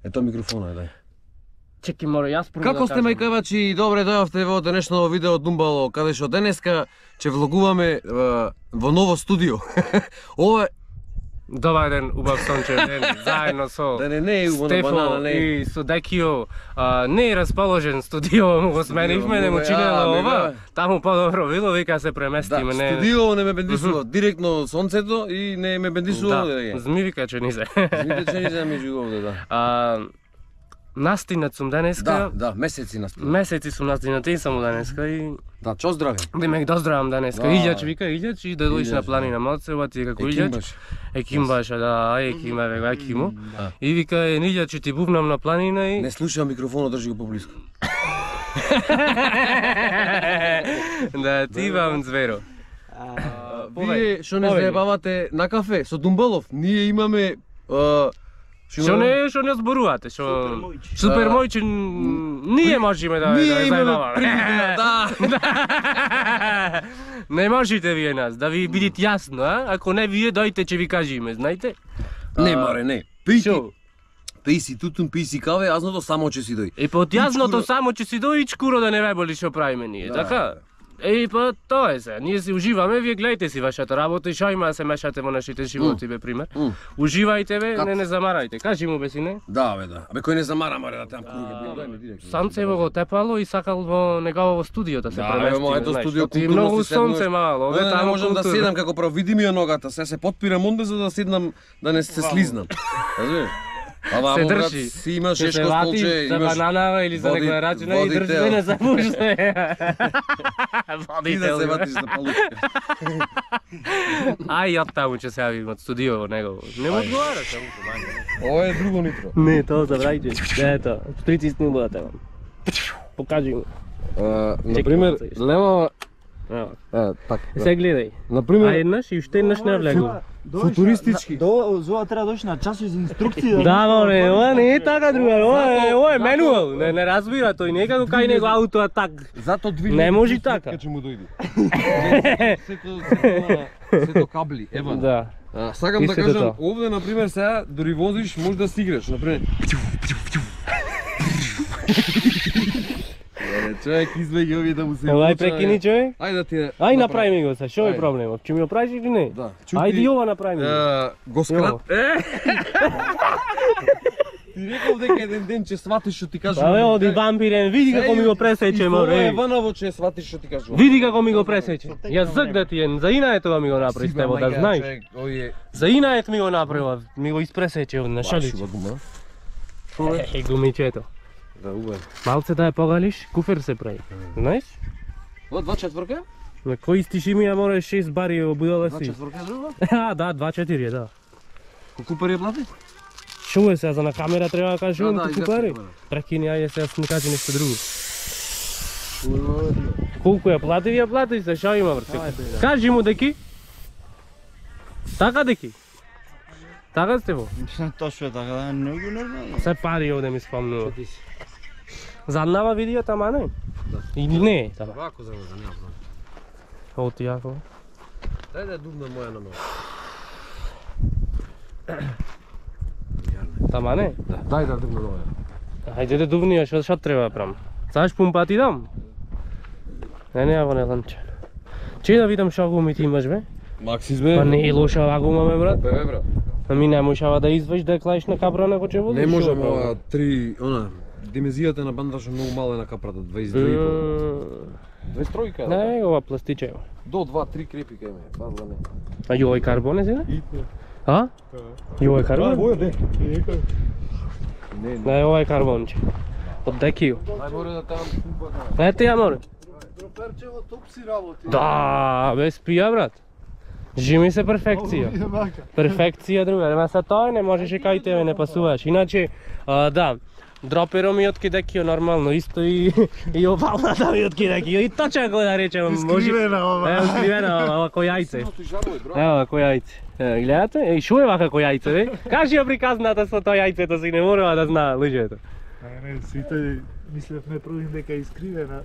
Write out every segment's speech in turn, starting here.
Ето микрофонот, дај. Чеки, море, јас прво Како сте, мајкавачи? Добре дојавте во денешно видео од Думбало, каде што денеска ќе влогуваме во ново студио. Ова Добар ден, убав сончев ден, заедно со не е убава банана, не. и со Декио. Не е расположен студио, му го сменивме, не му чинело ова. Таму подобро било, вика се преместиме. Да, студио не ме бендисува директно сонцето и не ме бендисува да, змивика че низе. Змивика че низе меѓу овде, да. Настинат сум денеска. Да, месеци настинат. Месеци сум настинат и само денеска и... Да, чо здраве. Демек доздравам денеска. Илјач вика, Илјач и да дојдеш на планина Малцева, ти како Илјач. Екимбаша, да, екима, вега, екимо. И вика, Илјач ти бубнам на планина и... Не слушам микрофонот, држи го поблиску. Да, ти вам зверо. Вие што не заебавате на кафе со Думбалов, ние имаме Што не зборувате, што Супер мојче ние можеме да заебаваме. Да. Не можете вие нас, да ви бидите јасно, а? Ако не вие дојте ќе ви кажеме, знаете? Не, маре, не. Пи си тутун, пи си каве, јазното само ќе си дој. И под јазното само ќе си дој и чкуро да не ве боли што правиме ние, така? Еј, па тоа е се, ние си уживаме, вие гледате си вашата работа и шо има да се мешате во нашите животи, бе, пример. Уживајте, бе, не замарајте. Кажи му, бе, сине. Да, бе, да. Абе, кој не замара, маре, да там круги, дај ми директно. Сонцево го тепало и сакал во негово студио да се премести. Да, моето студио културно. Многу сонце мало, овде таму можам да седам како право, види ми ја ногата, се подпирам онде за да седнам, да не се слизнам. Разбираш? Ама се брат, држи. си имаш ешко столче, за бананава или за некоја рачина и држи се не запуште. Ти да се ватиш за палучка. Ај, ја таму ќе се јавим од студио во него. Не му одговара само помаѓа. Ова е друго нитро. Не, тоа забрајте. Ето, притисни го да те. Покажи му. Например, лева така. Се гледај. Например, а еднаш и уште еднаш не влегу. Футуристички. Зова треба дојш на часови за инструкции. Да, море, ова не е така другар, ова е менуал, не разбира тој, не како кај него ауто атак. Зато движи. Не може така. Ќе му дојде. Сето кабли, ева. Да. Сакам да кажам, овде на пример сега дури возиш, може да си играш, на пример. Човек извеќе овие да му се. Ај прекини човек. Ај да ти. Ај направи ми го се, што е проблемот? Ќе ми го правиш или не? Да. Ајде ова направи ми. Го скрат. Ти реков дека еден ден ќе сватиш што ти кажувам. Абе, оди вампирен, види како ми го пресече, море. Ванаво ќе сватиш што ти кажувам. Види како ми го пресече. Ја зак да ти е, за инаје тоа ми го направи Стево, да знаеш. За инаје ми го направи, ми го испресече на шалич. Еј, гумичето. Да, убаво. Малце да ја погалиш, куфер се прави. Знаеш? Ова 2/4? На кој истиш ми ја море 6 бари во будала си. 2/4 друго? Да, 2/4, да. Колку пари ја плати? Шо е сега за на камера треба да кажувам колку пари? Да. Прекини, ајде сега не кажи нешто друго. Колку ја плати се, шо има брат? Кажи му деки. Така деки. Така сте во? Точно така, да, многу нормално. Се пари овде ми спомнува. Заднава видео тама не? Или не? Тама. Вако за да нема проблем. Оти јако. Дај да дувна моја на малку. Тама не? Да, дај да дувна моја. Ајде да дувни, што треба да правам? Саш пумпа ти дам? Не во ланче. Че да видам што гуми ти имаш бе? Максис бе. Па не е лоша ова гума бе брат. Бе брат. Ами не можеш да извеш да клаиш на капра него че водиш. Не можам ова 3, она dimenzијата на бандажот многу мала на капрата, 22,5. 23 да. Не, ова пластичево. До 2-3 крепи кај ме, пазла не. А јој карбон е сега? А? Јој карбон? Боја де. Не, ова е карбонче. Од Декио. Ај море да таму пумпата. Ете ја море. Перчево топ си работи. Да, без пија брат. Жими се перфекција. Перфекција друга, ама са тоа не можеш и кај тебе не пасуваш. Иначе, да, дроперо ми од Декио нормално, исто и овалната ми од Декио. И точно го да речем, може. Ево скривена ова кој јајце. Ево кој јајце. Гледате? Еј, шо е вака кој јајце, бе? Кажи ја приказната со тоа јајцето, си не мора да знае луѓето. Не, сите мислевме првим дека е искривена.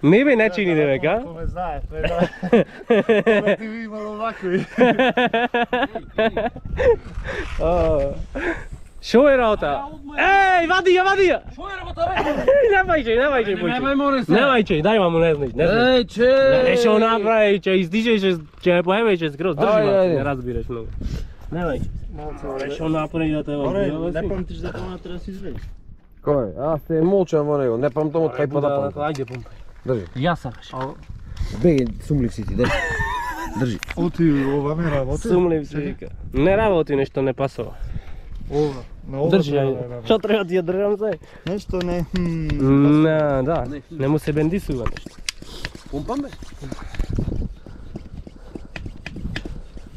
Не бе, не чини дека, а? Ко ме знаеш, не знаеш. Ти ви имало вакви. Шо е работа? Ej, vadi ја! Што е работа, бе? Немај че, Немај, море се. Немај че, дај маму, не знаеш. Еј, че. Што направи, че издижеше, че ме поебеше скроз, држи Ајде, ма, ајде. не разбираш многу. Немај че. Што направи да те Оре, не памтиш дека она треба да се изведеш. Кој? Аз се молчам во него, не памтам од кај па да памтам. Ајде, помпај. Држи. Ја сакаш. Беги, сумлив си ти, држи. Држи. Оти, ова ми работи. Сумлив се вика. Не работи, нешто не пасува. Ова, на ова Држи, треба ајде. да работи. Што треба ти ја држам се? Нешто не. Не, да, не му се бендисува нешто. Пумпам, бе?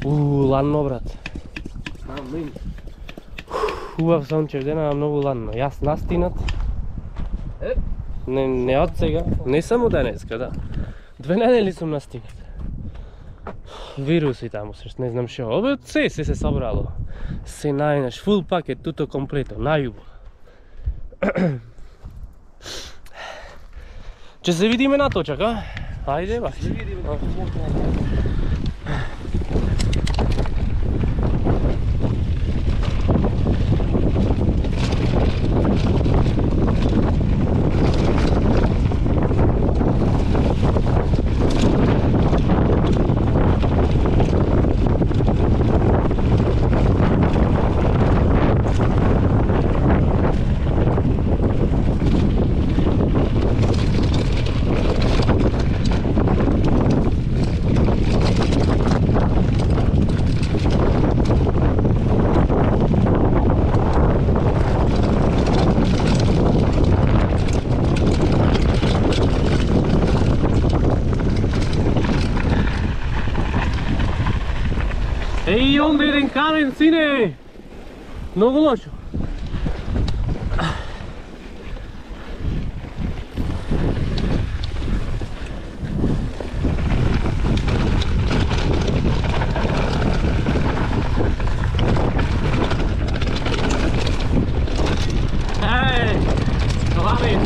Ладно, брат. Хубав сончев ден, ама многу ладно. Јас настинат. Не од сега, не само денеска, да. 2 недели сум настинат. Вируси таму се, не знам што. Обе се собрало. Се најнаш, фул пакет, туто комплето, најубаво. Ќе се видиме на точак, а? Ајде, ба. Се видиме на Еј, онде еден камен, сине! Многу лошо. Еј, глави!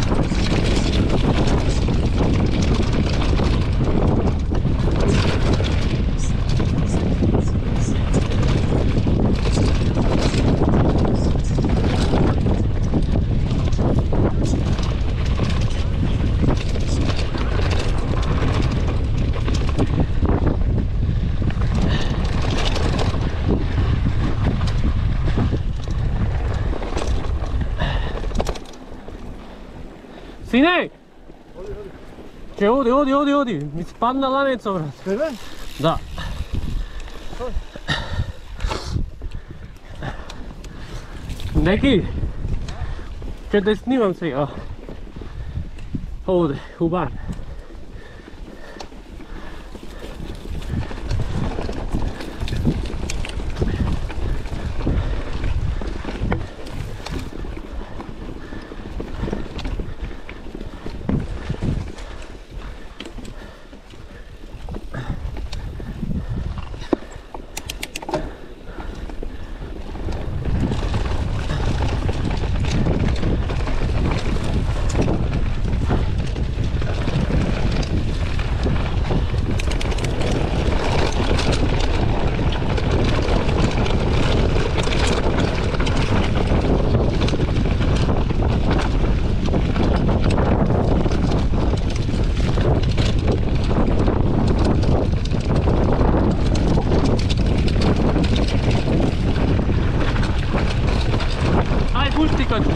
Сине! Че оди, ми спадна ланецо, брат. Тебе? Да. Неки, ќе те снимам сега. Овде, у бар. Ај, пушти качу.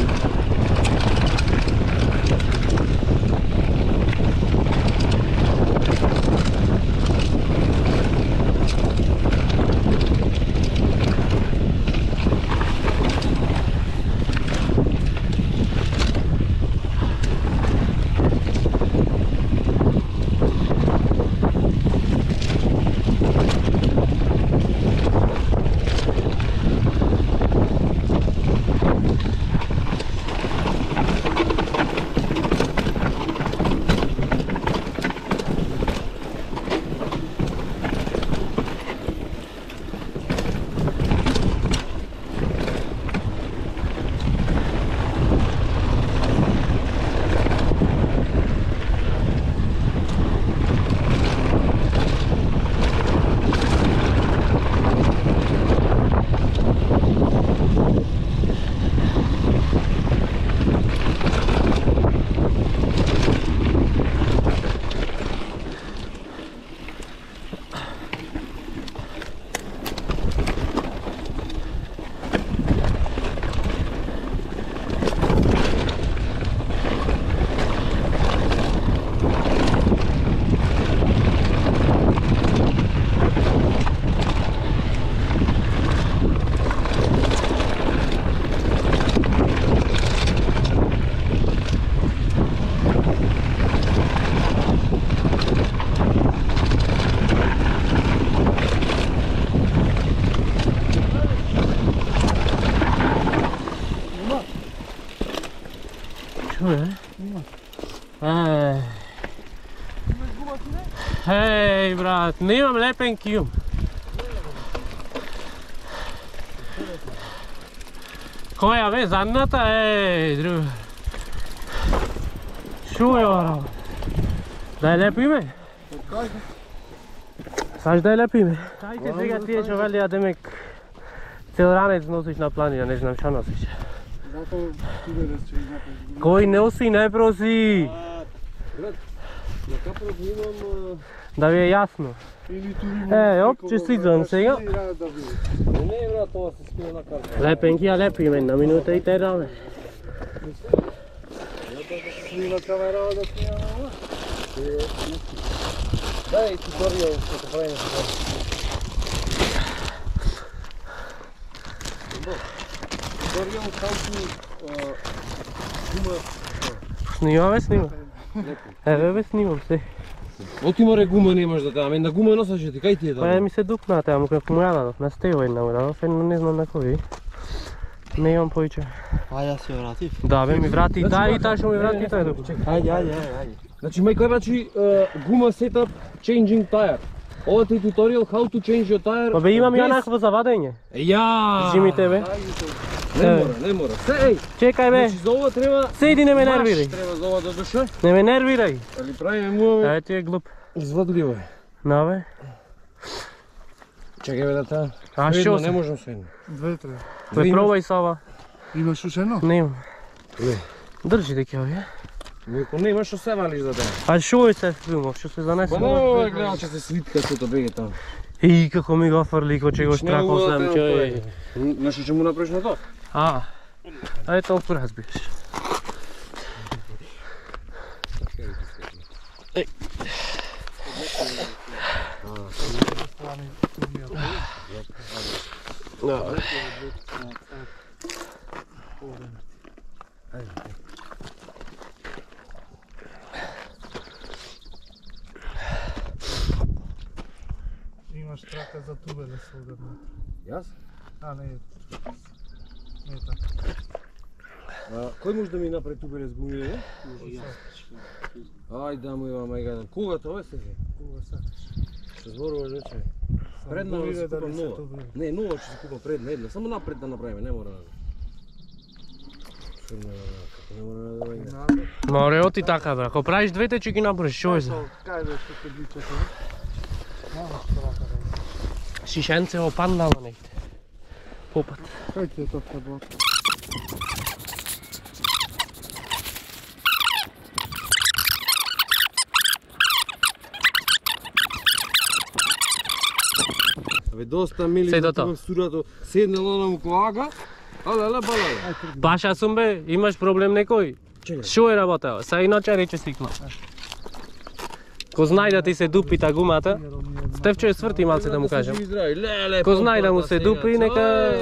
Чуе? Ej, brat, nemam lepenki imam. Koja ve, zadnjata? Ej, druga. Čuj, ono. Daj lepi me. Saš daj lepi me. Čajte, сега тие што вели, демек цел ранец носиш на планина, не знам што носиш. Кој носи, не проси. На капрот имам... Да ви е јасно. Оп, честитам сега. Не е брат, ова се скина на карта. Лепенки, а лепи мен на минута и тераме. Snima kamera da snimamo ovo. Дај туторијал како правиме тоа. Туторијал како гума. Снима бе, снима. Еве бе, снимам се. Оти море гума немаш да таа, на гума носеше ти, кај ти е Па ми се дупна таа, му како му ја дадов, на стево една му дадов, едно не знам на кој. Не имам поиќе. А јас се вратив. Да бе, ми врати и таа што ми врати тај доку. Ајде. Значи мајка значи гума setup changing tire. Ова ти туторијал how to change your tire. Па бе, имам ја накво за вадење. Ја. Зимите бе. Не мора. Се, еј. Чекај бе. Значи за ова треба. Седи, не ме нервирај. Треба за ова да душе. Не ме нервирај. Али правиме муаве. Ај ти е глуп. Извадливо е. На бе. Чекај бе да таа. А што не се? можам со едно. Две треба. Бе, пробај со ова. Имаш уште едно? Не имам. Не. Држи дека овие. Ако немаш што се валиш за тоа. А шо е се филмов, што се занесе? Па не, гледам че се свитка сото беге таму. И како ми го фрли, ко че го штракал сам чој. Знаеш што му направиш на тоа? А. Ај толку разбираш. Имаш трака за тубеле се ударно. Јас? А, не е. Не е така. Кој може да ми направи тубеле с гумиле? Ај да му има мајгадан. Кога тоа се? Кога сакаш. Се зборуваш вече. Предна да се купам нова. Не, нова ќе се купам предна една. Само напред да направиме, не мора. Не мора да. Море оти така бра, ако правиш двете ќе ги направиш, шо е за? Кај бе што се блича тоа? Нямаш трака да. Шишенце опандало негде. Попат. Кај ти е тоа таблот? Абе доста мили Седото. в студиото. Седнала на муклага. Але, бале. Паша сум бе, имаш проблем некој? Чекај. Шо е работа? Са иначе рече стикна. Ко знае да ти се дупи та гумата, Стефчо е сврти малце да му кажам. Ко знае да му се дупи, нека...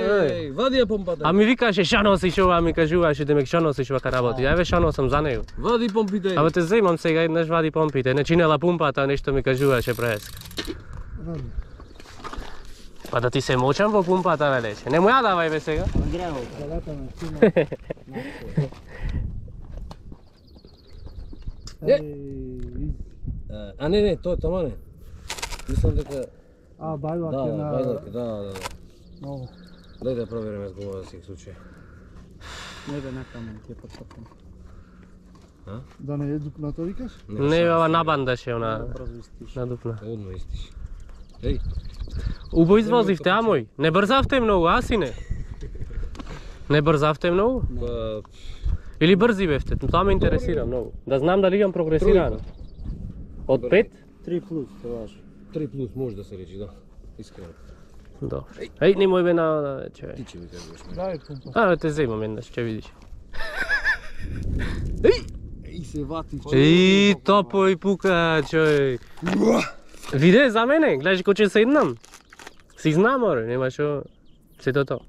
Вади ја помпата. А ми викаше шо носиш ова, ми кажуваше демек шо носиш вака работи. Еве шо носам за него. Вади помпите. Абе те земам сега еднаш вади помпите, не чинела пумпата, нешто ми кажуваше преска. Па да ти се мочам во пумпата велеше. Не му ја давај бе сега. Андрео, салата на чина. А не, тоа тама не. Мислам дека... А, бајлак Да, е на... бајлак, да. Много. Дај да провериме с гума за сек случај. Не бе накамен, ќе потсапам. Да не е дупнато викаш? Не, ова набандаше она на дупна. Одма истиш. Еј, Убо извозивте, а мој. Не брзавте многу, а сине? Не брзавте многу? па... Или брзи бевте? Тоа ме интересира многу. Да знам дали имам прогресирано. Од 5? 3 плюс, тоа важно. 3 плюс може да се речи, да. Искрено. Добро. Еј, немој бе на човек. Ти ќе ми кажеш. Дај пумпа. А, те земам еднаш, ќе видиш. И се вати. И топо и пука, човек. Виде за мене, гледаш ко ќе седнам. Си знам, оре, нема шо. Сето тоа.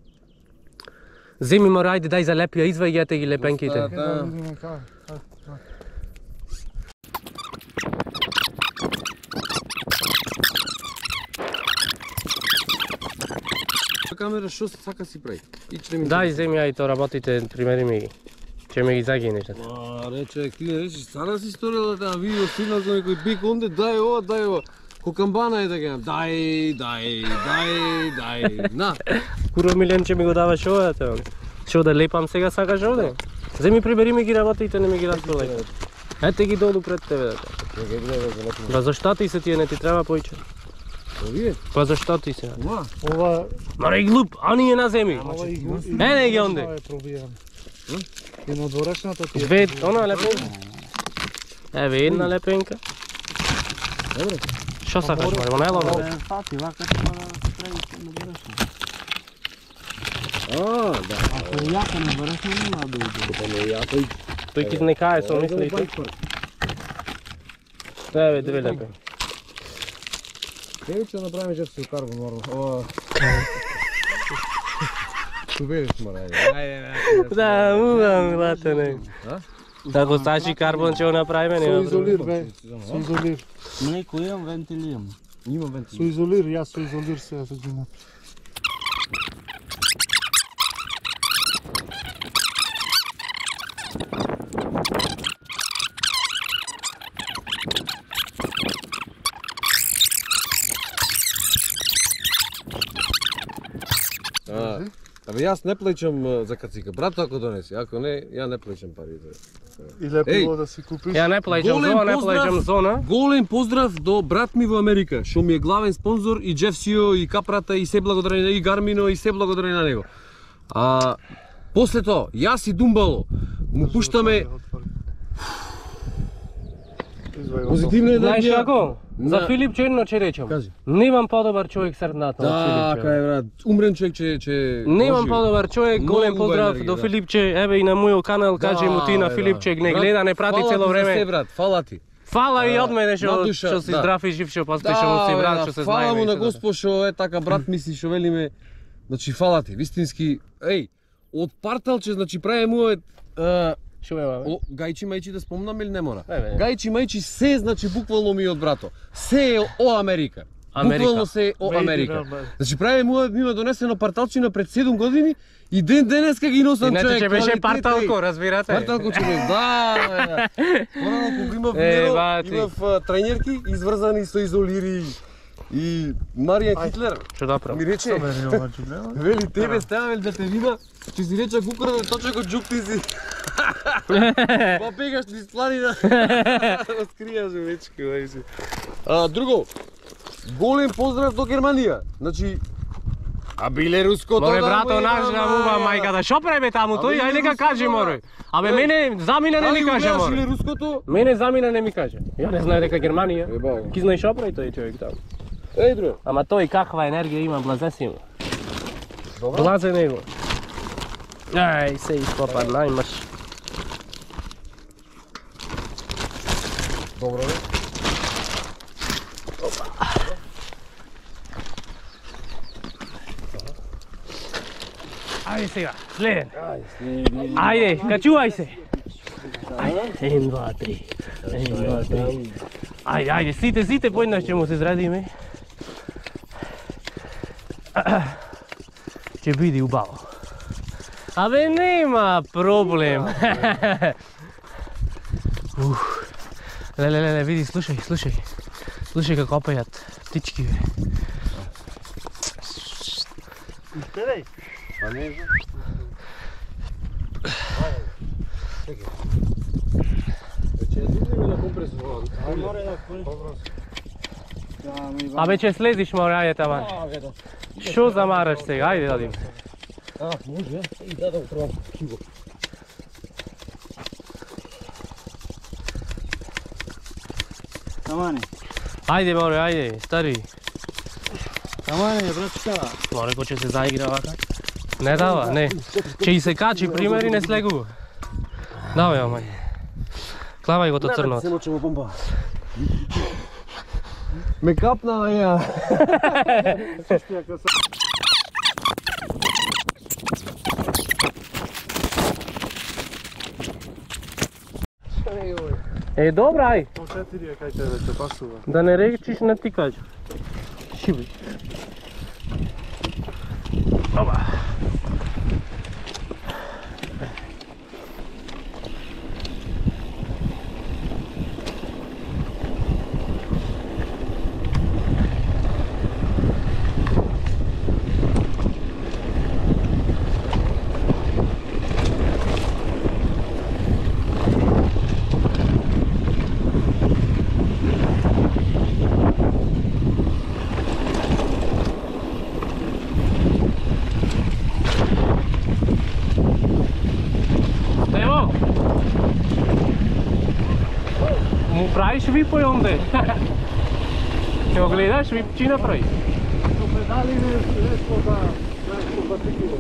Земи мо рајде, дај за лепија, изваѓате ги лепенките. Да видиме кај. Камера што се сака си прави. Ичне ми. Дај земи, ај то работите, примери ми ги. Ќе ме ги загинеш. Рече, ти рече, стара си сторила таа видео сигнал со некој бик онде, дај ова. Кокамбана е да гам. Дај. На. Куро Милен че ми го даваш ова, те. Што да лепам сега сакаш овде? Земи прибери ми ги работите, не ми ги распродај. Ете ги долу пред тебе да. Па зашто ти се тие не ти треба поиќе? Овие? Па зашто ти се? Ова... Маре глуп, ани е на земи. Ене ги онде. Ова е пробијан. И на дворешната ти е... Две, она лепенка. Еве една лепенка. Добре. Што сакаш, маре, во најлово? Фати, вака ќе мора да се прави на дворешна. Да. Ако е јако на дворешна, нема да уđe. Тој ки не кае со мислите. Еве две лепенки. Еј ќе направиме жестко карбон нормално. Ова. Субериш мора. Да, мувам, латане. Ако стачи карбон ќе го направиме, Со нема изолир, проблем. бе. Со изолир. Млеко имам, вентилирам. Имам вентил. Со изолир, јас со изолир сега се ги направи. Абе јас не плеќам за кацика. Брат ако донеси, ако не, ја не плеќам пари за. И лепило да си купиш. Ја не плаќам зона, не плаќам зона. Голем поздрав до брат ми во Америка, што ми е главен спонзор и Джеф Сио и Капрата и се благодарение и Гармино и се благодарение на него. После тоа, јас и Думбало му пуштаме позитивна Знаеш енергија. како? За На- Филип Черно ќе речам. Кажи. Немам подобар човек срдната од Филип Така е, брат. Умрен човек че Немам подобар човек, Многу голем убава поздрав енергија, до да. Филипче, еве и на мојот канал, кажи му ти на Филипче, не гледа, не прати цело Фала ти за се, време. брат, фала ти. Фала и од мене на душа, што си да. здрав и жив, што постои, што му си брат, што се фала знаеме. му и на се да. Господ што е така брат мисли што велиме. Значи фала ти, вистински. Еј, од парталче значи прави мојот Шо ме бабе? гајчи мајчи да спомнам или не мора? Еве. Гајчи мајчи се значи буквално ми од брато. Се е о Америка. Америка. Буквално се е о Мade in Америка. America. Значи прави мојот ми донесено парталчина пред 7 години и денеска ги носам Иначе човек. ќе беше квалитет, парталко, еј. разбирате? Парталко ќе беше, да. Порано кога имав бати. имав тренерки изврзани со изолири и Маријан Хитлер Што да правам? ми рече, вели тебе ставам да те вида, ќе си рече кукур да точно го джукти си. Па бегаш низ планина. Скријаш вечки, вајси. Друго, голем поздрав до Германија. Значи, а биле руското Море да брато му наш има, да мува мајката. Што прави таму тој? Абе, Ајде ка руско, кажи да. море. Абе мене замина не ми каже Или море. руското? Мене замина не ми каже. Ја не знае дека Германија. Еба. Ки знаеш што прави тој човек таму? Еј, друго. Ама тој каква енергија има, блазе си му. Блазе него. Ај, се ископа најмаш. Добро, бе. Ајде сега, следен. Ајде, качувај се. Ајде, 1, 2, 3. 1, 2, 3. Ајде, ајде, сите поеднаш ќе му се израдиме. Ќе биде убаво. Абе, нема проблем. Леле, види, слушај. Слушај како опајат птички, бе. Гледај. Па не знам. Ќе дигнеме на компресор. Море да купиш. Абе, ќе слезиш, море, ајде таман. Што замараш сега? Ајде, одим. Може, и да го пробам киво. Тамане. Ајде, море, ајде, стари. Тамане, братчка. Море, кој ќе се заигра вака? Не дава, не. Ќе и се качи, примери, не слегува. Давај, омај. Клавај го то црнот. Се мочемо бомба. Ме капна на ја. Е, добра, ај. По 4 кај тебе те пасува. Да не речиш на ти кажа. Шиби. Оба. правиш випој онде. Ќе го гледаш, вип чи направи. Со педали нещо да патикило.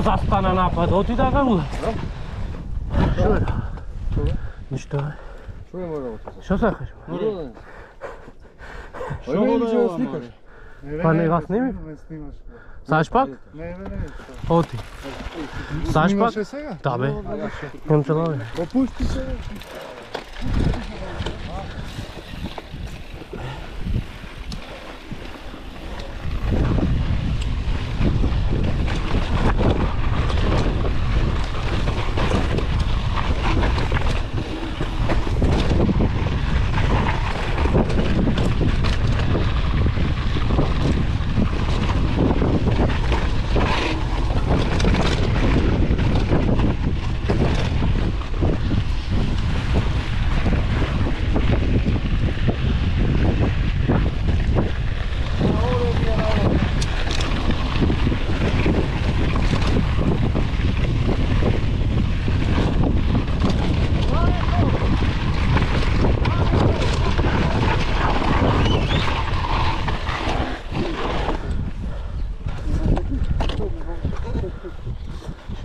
Zastana napad, oti da ga lula. Što je? Ništa. Што е морало тоа? Što sakaš? Што да ја сликаш? Pa ne, vas snimi? Не снимаш. Saš pak? Не. Oti. Saš pak? Снимаше сега? Da be. Imam te love. Опусти се.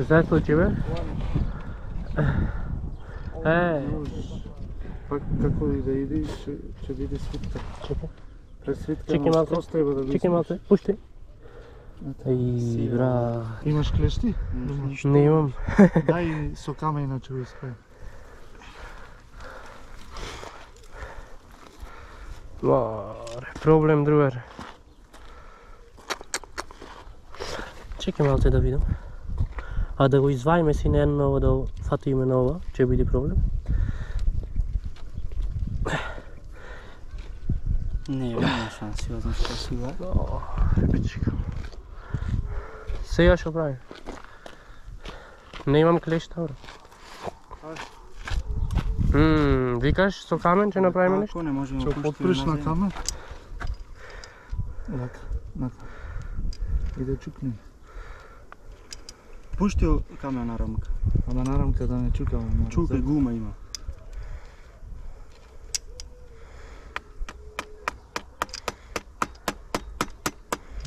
Šta se случи, бе? Пак како и да иде, ќе биде свитка. Чекай. Пред свитка Чекай на малце. скос треба да го Чекай малце, пушти. Ей, брат. Имаш клешти? Не имам. Дај со кама иначе го исправим. Море, проблем другар. Чекай малце да видам. А да го изваиме си на едно ново, да фатиме на ова, ќе биде проблем. Не, няма шанси, ја знам што си га. Репичка. Сега што правим? Не имам клешта, бро. Викаш со камен ќе направиме нешто? Како не можеме Ќе потпреш на кама? Лака. И да чукне. Пушти камена на рамка. Ама на рамка да не чукаме. Чукај, гума има.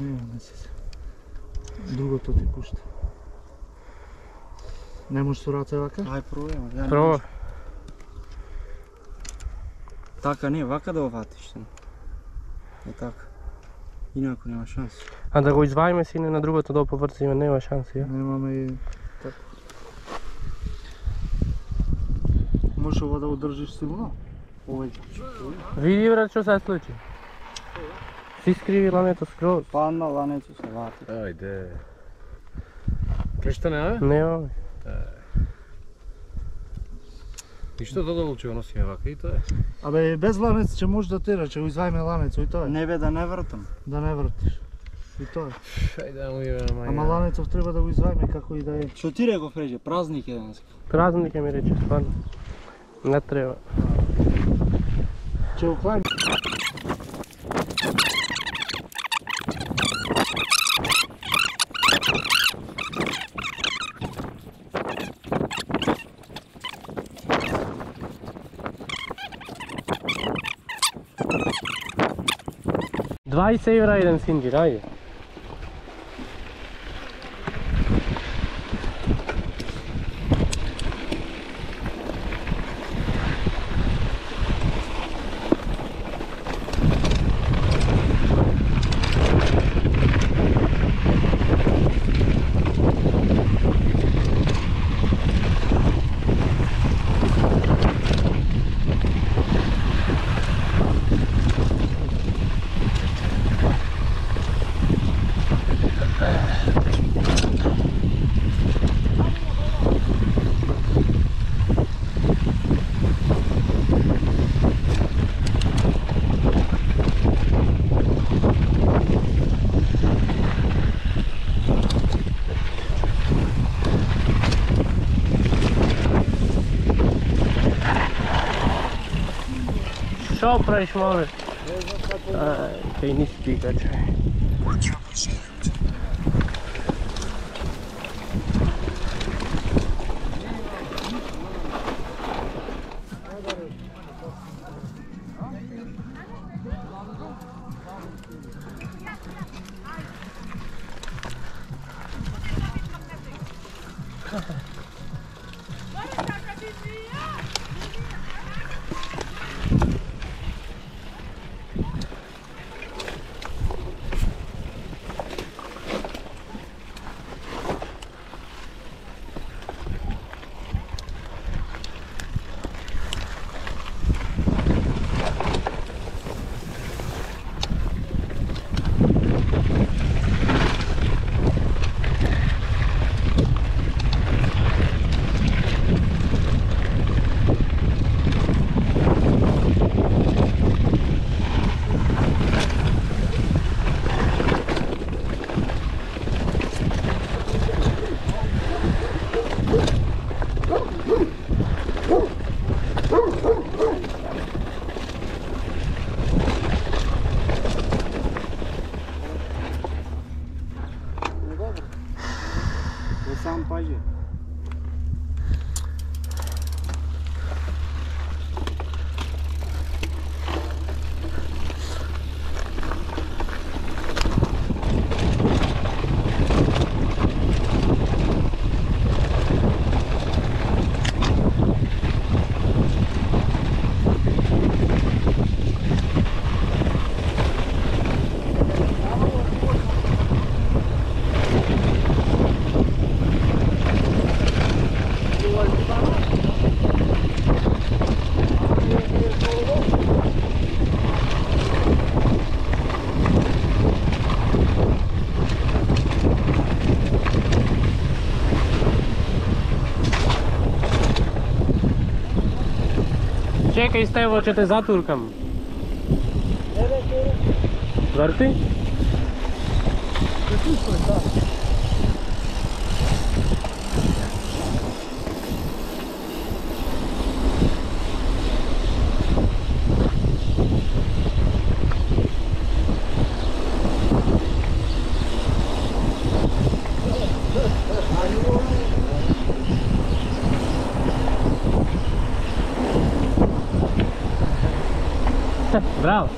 Не се. Другото ти пушта. Не можеш со раце вака? Ај пробај. Проба. Така не, вака да оватиш. Е така. Инако нема шанс. А да го изваиме сине на другото да поврциме, нема шанси, ја? Немаме и така. Можеш ова да одржиш силно? Овој. Види брат што се случи. Си скриви лането скроз. Падна ланецо се вати. Ајде. Кешта не, Нема. Ништо додолу ќе го носиме вака и тоа е. Абе, без ланец ќе можеш да тераш, ќе го изваиме ланецо и тоа е. Не бе да не вртам. Да не вртиш. И тоа е. Ајде да му име на маја. Ама ланецов треба да го изваиме како и да е. Што ти реков реже, празник е денеска. Празник ми рече, стварно. Не треба. Ќе го клајме. €20 еден синџир, ајде. Што правиш, мале? Кај ни спика, чај. Сам паѓе. Čekaj, Stevo, če te zaturkam. Vrti? Bravo.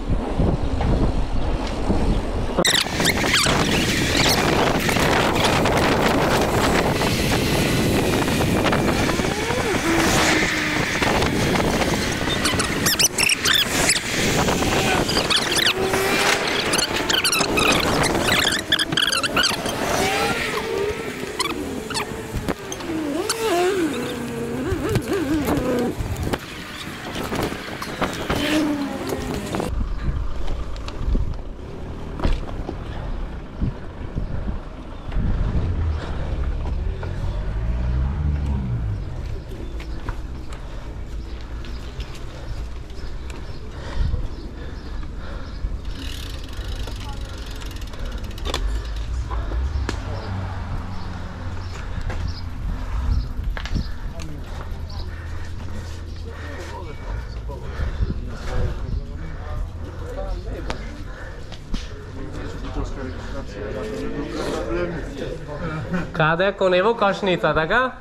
Каде, кон ево кошница, така?